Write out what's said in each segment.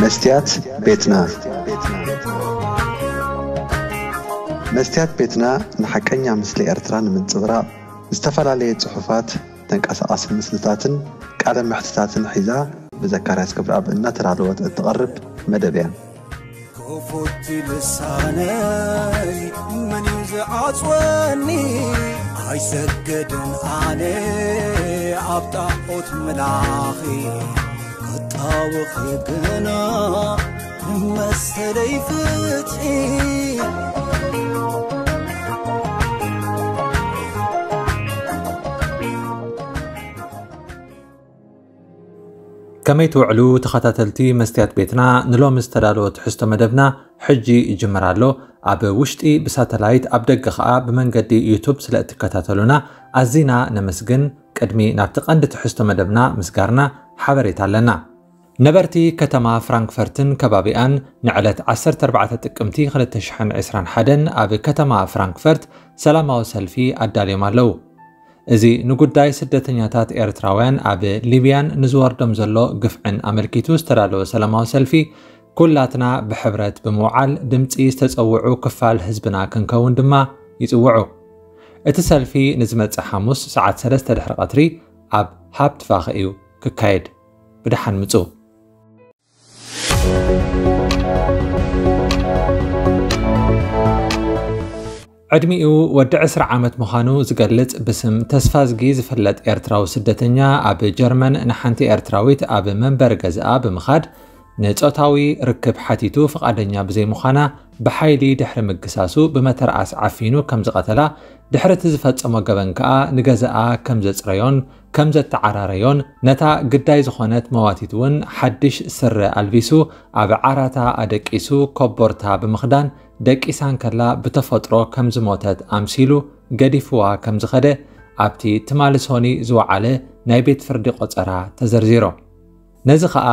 መስትያት ቤትና። መስትያት ቤትና ንሓቀኛ ምስሊ ኤርትራ ንምንጽብራቕ ዝተፈላለየ ጽሑፋት፣ ተንቀሳቓሲ ምስልታትን ቃለ መሕትታትን ሒዛ ብዘካርያስ ገብረኣብ እናተዳለወት እትቐርብ መደብ እያ። ክፉት ልሳነይ መን እዩ ዝዓጽወኒ? ኣይሰግድን ኣነ ኣብ ጣዖት ምላኺ፣ ክጣወኺ ግና መሰለይ ፍትሒ። ከመይ ትውዕሉ ተኸታተልቲ መስትያት ቤትና? ንሎሚ ዝተዳለወ ትሕዝቶ መደብና ሕጂ ይጅምር ኣሎ። ኣብ ውሽጢ ብሳተላይት፣ ኣብ ደገ ኸኣ ብመንገዲ ዩቱብ ስለ እትከታተሉና ኣዚና ነመስግን። ቅድሚ ናብቲ ቀንዲ ትሕዝቶ መደብና ምስጋርና፣ ሓበሬታ ኣለና። ነበርቲ ከተማ ፍራንክፈርትን ከባቢኣን ንዕለት ዓሰርተ ኣርባዕተ ጥቅምቲ ክልተ ሽሕን ዕስራን ሓደን ኣብ ከተማ ፍራንክፈርት ሰላማዊ ሰልፊ ኣዳልዮም ኣለዉ። እዚ ንጉዳይ ስደተኛታት ኤርትራውያን ኣብ ሊብያን ንዝወርዶም ዘሎ ግፍዕን ኣመልኪቱ ዝተዳለወ ሰላማዊ ሰልፊ፣ ኩላትና ብሕብረት ብምውዓል ድምጺ ዝተጸውዑ ክፋል ህዝብና ክንከውን ድማ ይጽውዑ። እቲ ሰልፊ ንዝመጽእ ሓሙስ ሰዓት ሰለስተ ድሕሪ ቀትሪ ኣብ ሃፕትቫኸ እዩ ክካየድ። ብደሓን ምጹ። ዕድሚኡ ወዲ ዕስራ ዓመት ምዃኑ ዝገልጽ ብስም ተስፋዝጊ ዝፍለጥ ኤርትራዊ ስደተኛ፣ ኣብ ጀርመን ንሓንቲ ኤርትራዊት ኣብ መንበሪ ገዝኣ ብምኻድ ንጾታዊ ርክብ ሓቲቱ ፍቓደኛ ብዘይምዃና ብሓይሊ ድሕሪ ምግሳሱ ብመተርኣስ ዓፊኑ ከም ዝቐተላ፣ ድሕሪ እቲ ዝፈጸሞ ገበን ከኣ ንገዛኣ ከም ዘጽረዮን ከም ዘተዓራረዮን፣ ነታ ግዳይ ዝኾነት መዋቲት እውን ሓድሽ ስረ ኣልቢሱ ኣብ ዓራታ ኣደቂሱ ኮቦርታ ብምኽዳን ደቂሳ እንከላ ብተፈጥሮ ከም ዝሞተት ኣምሲሉ ገዲፍዋ ከም ዝኸደ ኣብቲ ትማሊ ሶኒ ዝወዓለ ናይ ቤት ፍርዲ ቆጸራ ተዘርዚሩ። ነዚ ኸኣ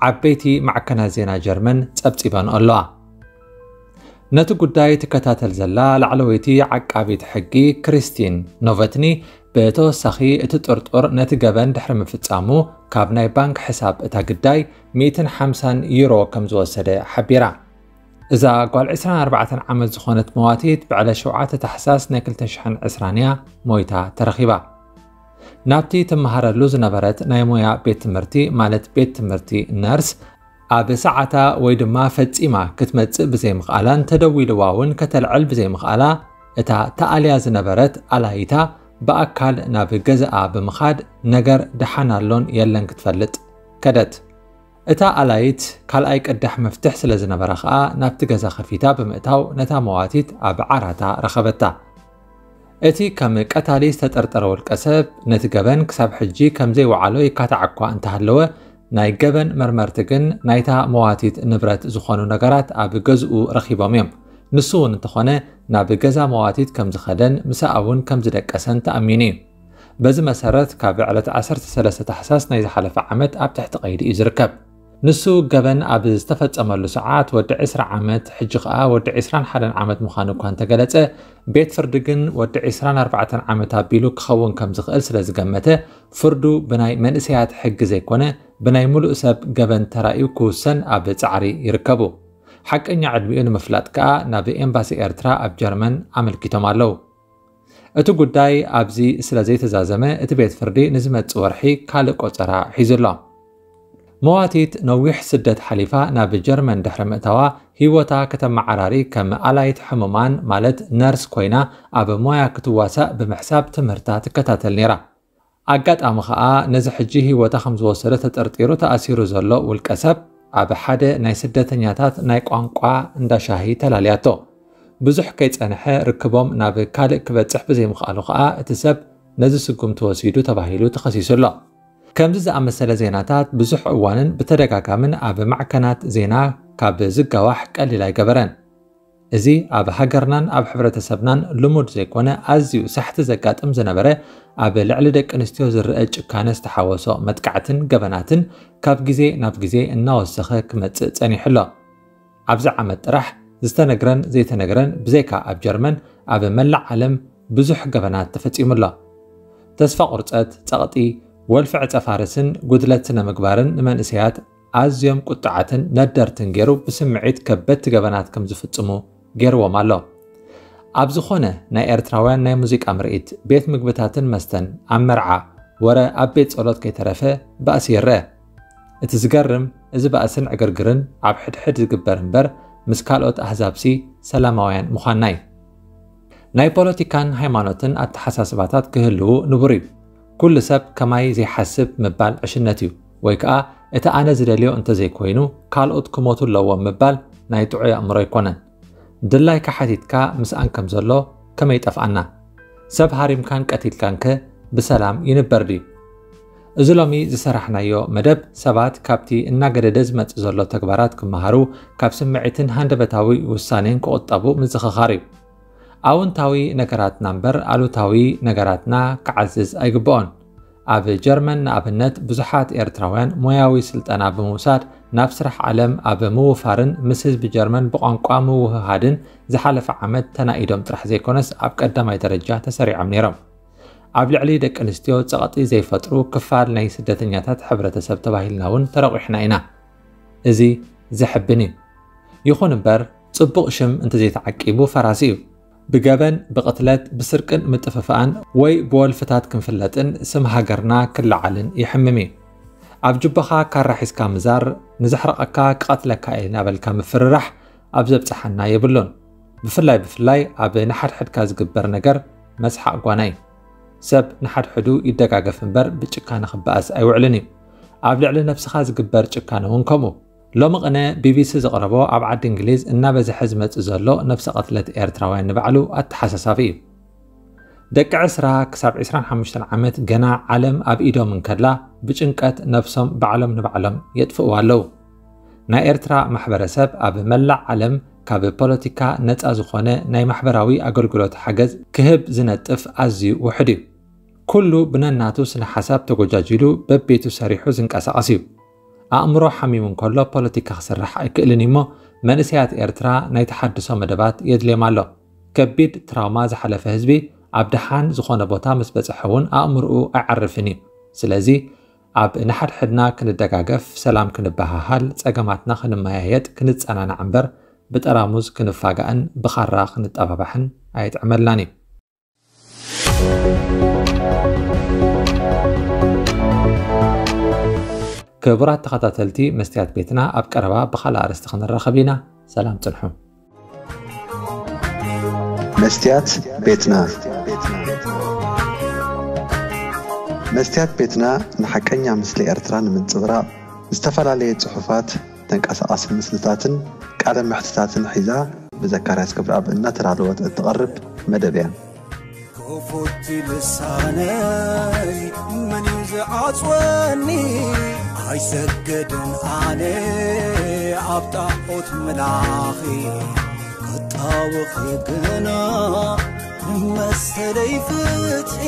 ዓበይቲ ማዕከናት ዜና ጀርመን ጸብጺበንኦ ኣለዋ። ነቲ ጉዳይ ትከታተል ዘላ ላዕለወይቲ ዓቃቢት ሕጊ ክሪስቲን ኖቨትኒ፣ ብተወሳኺ እቲ ጥርጡር ነቲ ገበን ድሕሪ ምፍጻሙ ካብ ናይ ባንክ ሕሳብ እታ ግዳይ ሚእትን ሓምሳን ዩሮ ከም ዝወሰደ ሓቢራ። እዛ ጓል ዕስራን ኣርባዕተን ዓመት ዝኾነት መዋቲት ብዕለት ሸውዓተ ታሕሳስ ናይ ክልተ ሽሕን ዕስራን እያ ሞይታ ተረኺባ። ናብቲ ትመሃረሉ ዝነበረት ናይ ሞያ ቤት ትምህርቲ፣ ማለት ቤት ትምህርቲ ነርስ፣ ኣብ ሰዓታ ወይ ድማ ፈጺማ ክትመጽእ ብዘይምኽኣላን ተደዊልዋ እውን ከተልዕል ብዘይምኽኣላ፣ እታ ተኣልያ ዝነበረት ኣላይታ ብኣካል ናብ ገዛኣ ብምኻድ ነገር ደሓን ኣሎን የለን ክትፈልጥ ከደት። እታ ኣላይት ካልኣይ ቅዳሕ መፍትሕ ስለ ዝነበራ ኸኣ ናብቲ ገዛ ከፊታ ብምእታው ነታ መዋቲት ኣብ ዓራታ ረኸበታ። እቲ ከም ቀታሊ ዝተጠርጠረ ውልቀ ሰብ ነቲ ገበን ክሳብ ሕጂ ከም ዘይወዓሎ ይካታዕ እኳ እንተሃለወ፣ ናይ ገበን መርመርቲ ግን ናይታ መዋቲት ንብረት ዝኾኑ ነገራት ኣብ ገዝኡ ረኺቦም እዮም። ንሱ እውን እንተኾነ ናብ ገዛ መዋቲት ከም ዝኸደን ምስኣ እውን ከም ዝደቀሰን ተኣሚኑ እዩ። በዚ መሰረት ካብ ዕለት ዓሰርተ ሰለስተ ታሕሳስ ናይ ዝሓለፈ ዓመት ኣብ ትሕቲ ቀይዲ እዩ ዝርከብ። ንሱ ገበን ኣብ ዝተፈጸመሉ ሰዓት ወዲ ዕስራ ዓመት፣ ሕጂ ኸኣ ወዲ ዕስራን ሓደን ዓመት ምዃኑ እኳ እንተገለጸ፣ ቤት ፍርዲ ግን ወዲ ዕስራን ኣርባዕተን ዓመት ኣቢሉ ክኸውን ከም ዝኽእል ስለ ዝገመተ፣ ፍርዱ ብናይ መንእሰያት ሕጊ ዘይኮነ፣ ብናይ ምሉእ ሰብ ገበን ተራእዩ ክውሰን ኣብ ጻዕሪ ይርከቡ። ሓቀኛ ዕድሚኡ ንምፍላጥ ከኣ ናብ ኤምባሲ ኤርትራ ኣብ ጀርመን ኣመልኪቶም ኣለዉ። እቲ ጉዳይ ኣብዚ ስለ ዘይተዛዘመ፣ እቲ ቤት ፍርዲ ንዝመጽእ ወርሒ ካልእ ቆጸራ ሒዙ ኣሎ። መዋቲት ነዊሕ ስደት ሓሊፋ ናብ ጀርመን ድሕሪ ምእታዋ፣ ህይወታ ከተመዓራሪ ከም ኣላይት ሕሙማን፣ ማለት ነርስ ኮይና ኣብ ሞያ ክትዋሳእ ብምሕሳብ ትምህርታ ትከታተል ነይራ። ኣጋጣሚ ኸኣ ነዚ ሕጂ ህይወታ ከም ዝወሰደ ተጠርጢሩ ተኣሲሩ ዘሎ ውልቀ ሰብ ኣብ ሓደ ናይ ስደተኛታት ናይ ቋንቋ እንዳ ሻሂ ተላልያቶ። ብዙሕ ከይጸንሐ ርክቦም ናብ ካልእ ክበጽሕ ብዘይምኽኣሉ ኸኣ እቲ ሰብ ነዚ ስጉምቲ ወሲዱ ተባሂሉ ተኸሲሱ ኣሎ። ከምዚ ዝኣመሰለ ዜናታት ብዙሕ እዋንን ብተደጋጋምን ኣብ ማዕከናት ዜና ካብ ዝጋዋሕ ቀሊል ኣይገበረን። እዚ ኣብ ሃገርናን ኣብ ሕብረተሰብናን ልሙድ ዘይኮነ ኣዝዩ ሳሕቲ ዘጋጥም ዝነበረ ኣብ ልዕሊ ደቂ ኣንስትዮ ዝረአ ጭካነ ዝተሓወሶ መጥቃዕትን ገበናትን ካብ ግዜ ናብ ግዜ እናወሰኸ ክመጽእ ጸኒሑ ኣሎ። ኣብዚ ዓመት ጥራሕ ዝተነግረን ዘይተነግረን ብዘይካ ኣብ ጀርመን ኣብ መላእ ዓለም ብዙሕ ገበናት ተፈጺሙ ኣሎ። ተስፋ ቁርጸት፣ ጸቕጢ፣ ወልፊ ዕጸ ፋርስን ጉድለት ስነ ምግባርን ንመንእሰያት ኣዝዮም ቁጡዓትን ነደርትን ገይሩ ብስምዒት ከበድቲ ገበናት ከም ዝፍጽሙ ገይርዎም ኣሎ። ኣብ ዝኾነ ናይ ኤርትራውያን ናይ ሙዚቃ ምርኢት፣ ቤት ምግብታትን መስተን፣ ኣብ መርዓ፣ ወረ ኣብ ቤት ጸሎት ከይተረፈ ባእሲ ይረአ። እቲ ዝገርም፣ እዚ ባእስን ዕግርግርን ኣብ ሕድሕድ ዝግበር እምበር፣ ምስ ካልኦት ኣህዛብሲ ሰላማውያን ምዃንና እዩ። ናይ ፖለቲካን ሃይማኖትን ኣተሓሳስባታት ክህልዉ ንቡር እዩ። ኩሉ ሰብ ከማይ ዘይሓስብ ምባል ዕሽነት እዩ፣ ወይ ከኣ እቲ ኣነ ዝደልዮ እንተዘይኮይኑ ካልኦት ክሞቱ ኣለዎም ምባል ናይ ጥዑይ ኣእምሮ ኣይኮነን። ድላይካ ሓቲትካ ምስኣን ከም ዘሎ ከመይ ጠፍኣና? ሰብ ሃሪምካን ቀቲልካንከ ብሰላም ይንበር ድዩ? እዚ ሎሚ ዝሰራሕናዮ መደብ ሰባት ካብቲ እናገደደ ዝመጽእ ዘሎ ተግባራት ክመሃሩ፣ ካብ ስምዒትን ሃንደበታዊ ውሳኔን ክቑጠቡ ምዝኽኻር እዩ። ኣውንታዊ ነገራትና እምበር ኣሉታዊ ነገራትና ክዓዝዝ ኣይግብኦን። ኣብ ጀርመን ንኣብነት ብዙሓት ኤርትራውያን ሞያዊ ስልጠና ብምውሳድ ናብ ስራሕ ዓለም ኣብ ምውፋርን ምስ ህዝቢ ጀርመን ብቋንቋ ምውህሃድን ዝሓለፈ ዓመት ተናኢዶም ጥራሕ ዘይኮነስ ኣብ ቀዳማይ ደረጃ ተሰሪዖም ነይሮም። ኣብ ልዕሊ ደቂ ኣንስትዮ ጸቕጢ ዘይፈጥሩ ክፋል ናይ ስደተኛታት ሕብረተሰብ ተባሂልና እውን ተረቑሕና ኢና። እዚ ዘሕብን እዩ። ይኹን እምበር ጽቡቕ ሽም እንተዘይተዓቂቡ ፈራሲ እዩ። ብገበን፣ ብቕትለት፣ ብስርቅን ምጥፍፋእን ወይ ብወልፍታት ክንፍለጥን ስም ሃገርና ክለዓልን ይሕምም እዩ። ኣብ ጁባኻ ካራ ሒዝካ ምዛር፣ ንዘሕረቐካ ክቐትለካ እየ እናበልካ ምፍርራሕ ኣብ ዘብጽሓና የብሉን። ብፍላይ ብፍላይ ኣብ ንሓድሕድካ ዝግበር ነገር መስሓቕ ጓና እዩ። ሰብ ንሓድሕዱ ይደጋገፍ እምበር ብጭካነ ክበኣስ ኣይውዕልን እዩ። ኣብ ልዕሊ ነብስኻ ዝግበር ጭካነ እውን ከምኡ። ሎሚ ቅነ ቢቢሲ ዘቕረቦ ኣብ ዓዲ እንግሊዝ እናበዝሐ ዝመጽእ ዘሎ ነብሰ ቅትለት ኤርትራውያን ንባዕሉ ኣተሓሳሳቢ እዩ። ደቂ ዕስራ ክሳብ ዕስራን ሓሙሽተን ዓመት ገና ዓለም ኣብ ኢዶም እንከላ ብጭንቀት ነብሶም ባዕሎም ንባዕሎም የጥፍእዋ ኣለዉ። ናይ ኤርትራ ማሕበረሰብ ኣብ መላእ ዓለም ካብ ፖለቲካ ነጻ ዝኾነ ናይ ማሕበራዊ ኣገልግሎት ሓገዝ ክህብ ዝነጥፍ ኣዝዩ ውሑድ እዩ። ኩሉ ብነናቱ ስነ ሓሳብ ተጎጃጂሉ በቤቱ ሰሪሑ ዝንቀሳቐስ እዩ። ኣእምሮ ሓሚሙ እንከሎ ፖለቲካ ክስራሕ ኣይክእልን እዩ እሞ መንእሰያት ኤርትራ ናይ ተሓድሶ መደባት የድልዮም ኣሎ። ከቢድ ትራውማ ዝሓለፈ ህዝቢ ኣብ ደሓን ዝኾነ ቦታ ምስ በጽሐ እውን ኣእምርኡ ኣይዓርፍን እዩ። ስለዚ ኣብ ንሓድሕድና ክንደጋገፍ፣ ሰላም ክንበሃሃል፣ ጸገማትና ክንመያየጥ፣ ክንጸናናዕ እምበር ብጠራሙዝ ክንፋጋእን ብኻራ ክንጠባባሕን ኣይጥዕመልናን እዩ። ክቡራት ተኸታተልቲ መስትያት ቤትና፣ ኣብ ቀረባ ብኻልእ ኣርእስቲ ክንራኸብ ኢና። ሰላም ጽንሑ። መስትያት ቤትና። መስትያት ቤትና ንሓቀኛ ምስሊ ኤርትራ ንምንጽብራቕ ዝተፈላለየ ጽሑፋት፣ ተንቀሳቓሲ ምስልታትን ቃለ መሕትታትን ሒዛ ብዘካርያስ ክብረኣብ እናተዳለወት እትቐርብ መደብ እያ። ክፉት ልሳነይ መን እዩ ዝዓጽወኒ? ኣይሰግድን ኣነ ኣብ ጣዖት ምላኺ፣ ክጣወኺ ግና መሰለይ ፍትሒ።